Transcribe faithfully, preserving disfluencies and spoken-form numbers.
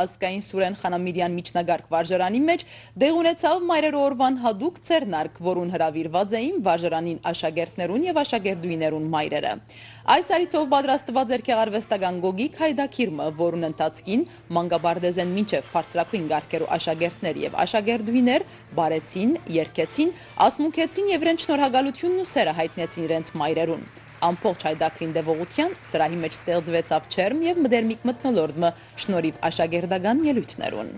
Ազգային Սուրէն Խանամիրեան միջնակարգ վարժարանին մէջ տեղի ունեցաւ Մայրերու օրուան յատուկ ձեռնարկ, որուն հրաւիրուած էին վարժարանին աշակերտներուն եւ աշակերտուհիներուն մայրերը։ Այս առիթով պատրաստուած էր գեղարուեստական գոգիկ յայտագիր մը, որուն ընթացքին մանկապարտէզէն մինչեւ բարձրագոյն կարգերու աշակերտներ եւ աշակերտուհիներ պարեցին, երգեցին, ասմունքեցին եւ իրենց շնորհակալութիւնն ու սէրը յայտնեցին իրենց մայրերուն։ Ամբողջ յայտագրին տեւողութեան սրահի մէջ ստեղծուեցաւ ջերմ եւ մտերմիկ մթնոլորտ մը շնորհիւ աշակերտական ելոյթներուն։